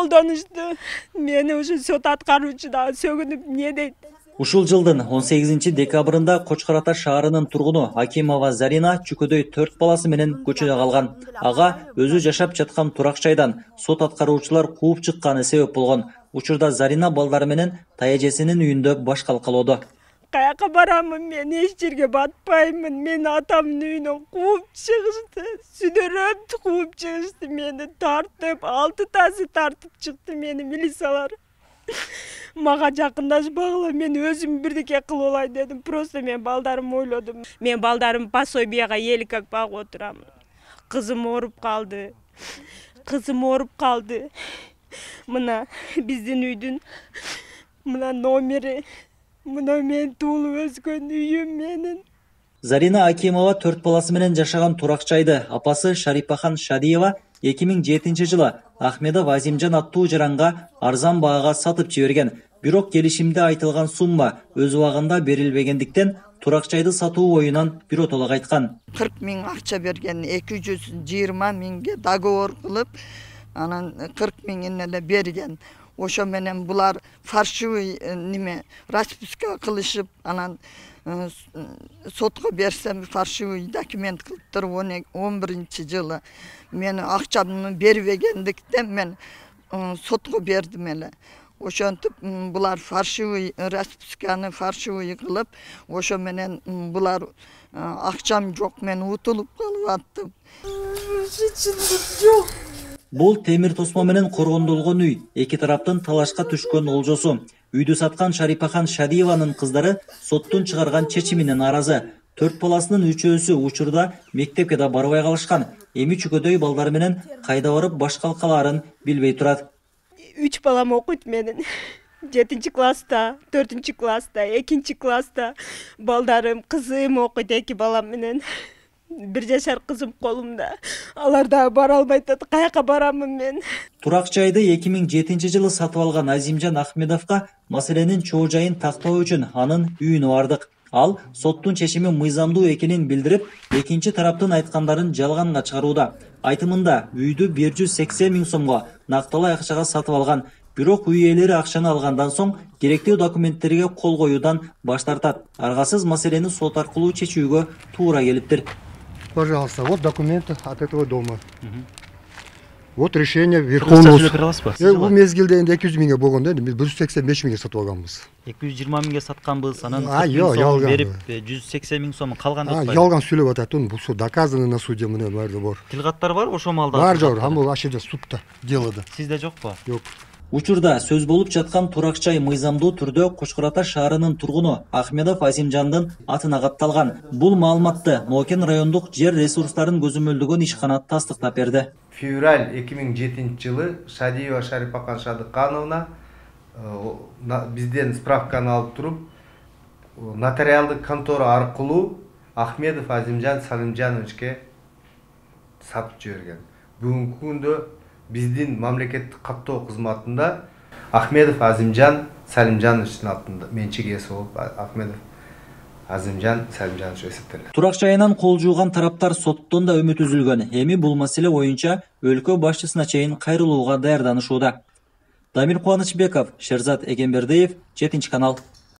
колдонушту. Мени ушу сот аткаруучу да сөгүнүп эмне дейт. Ушул жылдын 18 декабрында Кочкор Ата шаарынын тургуну Акимова Зарина чүкөдөй 4 баласы менен көчөдө калган. Ага өзү жашап жаткан турак жайдан сот аткаруучулар кууп чыкканы себеп болгон. Учурда Зарина балдары менен таяжесинин үйүндө баш калкалоодо. Каяка барамын, мен эч жерге батпаймын. Мен атамдын үйүнөн кууп чыгышты. Сүдөрөп кууп чыгышты. Мени тартып, 6 тасы тартып чыкты мени милициялар. Мага жакындашпагыла, мен өзүм бирдеке кылып алай дедим. Просто мен балдарымды ойлодум. Мен балдарым пособияга eelик багып отурамын. Кызым ооруп калды. Мына биздин үйдүн мына номери, мына мен туулуп өскөн үйүм менин. Зарина Акимова 4 баласы менен жашаган турак жайды апасы Шарипахан Шадиева 2007 жылы Ахмедов Азимжан аттуу жаранга арзан баага сатып жиберген. Бирок келишимде айтылган сумма өз убагында берилбегендиктен турак жайды сатуу оюнан биротоло кайткан. 40 миң акча берген, 220 миңге договор кылып, анан 40 миңин эле берген. Ошо менен булар фальшивый расписка кылышып, анан сотко берсем фальшивый документ кылыптыр 11-жылы. Мен акчамды бербегендиктен мен сотко бердим эле. Ошентип булар фальшивый расписканы фальшивый кылып, ошо менен булар акчам жок, мен утулуп калып аттым. Жок. Бул темир тосмо менен коргондолгон үй, эки тараптын талашка түшкөн олжосу. Үйдү саткан Шарипахан Шадиеванын кыздары соттун чыгарган чечимине нааразы. 4 баласынын 3-өсү учурда мектепке да барбай калышкан. Эми чүкөдөй балдары менен кайда барып баш калкалаарын билбей турат. 3 балам окуйт менин. 7-класста, 4-класста, 2-класста балдарым, кызым окуйт 2 балам менен. 1 жашар кызым колумда. Алар да бара албайт, каяка барамын мен. Турак жайды 2007 жылы сатып алган Азимжан Ахмедовго маселенин чоо жайын тактоо үчүн анын үйүнө бардык. Ал соттун чечими мыйзамдуу экенин билдирип, экинчи тараптын айткандарын жалганга чыгарууда. Айтымында үйдү 180 миң сомго накталай акчага сатып алган. Бирок үй ээлери акчаны алгандан соң керектүү документтерге кол коюудан баш тартат. Аргасыз маселени сот аркылуу чечүүгө туура келиптир. Пожалуйста, вот документы от этого дома. Вот решение Верховного суда. Бул мезгилде 200 миңге болгон да, биз 185 миңге сатып алганбыз. 220 миңге сатканбыз, анан 40 сом берип 180 миң сом калган деп атпайбы? Ялган сүйлөп атат, бул все доказано на суде, мына баары бар. Тилгаттар бар ошол маалда? Бар жок, бул ашыда судта делода. Сизде жокпу? Жок. Учурда сөз болуп жаткан турак жай мыйзамдуу түрдө Кочкор Ата шаарынын тургуну Ахмедов Азимжандын атына катталган. Бул маалыматты Нокен райондук жер ресурстарын көзөмөлдөгөн ишкана тастыктап берди. Февраль 2007 жылы Шадиева Шарипахан Шадыкановна бизден справканы алып туруп, нотариалдык контора аркылуу Ахмедов Азимжан Салимжановичке сатып жиберген. Бүгүнкү күндө биздин мамлекеттик каттоо кызматында Ахмедов Азимжан Салимжановичтин атында менчик ээси болуп Ахмедов Азимжан Салимжанович эсептелет. Турак жайынан кол жууган тараптар соттон да үмүт үзүлгөн. Эми бул маселе боюнча өлкө башчысына чейин кайрылууга даярданышууда. Дамир Кубанычбеков, Шерзат Эгембердиев, 7 канал.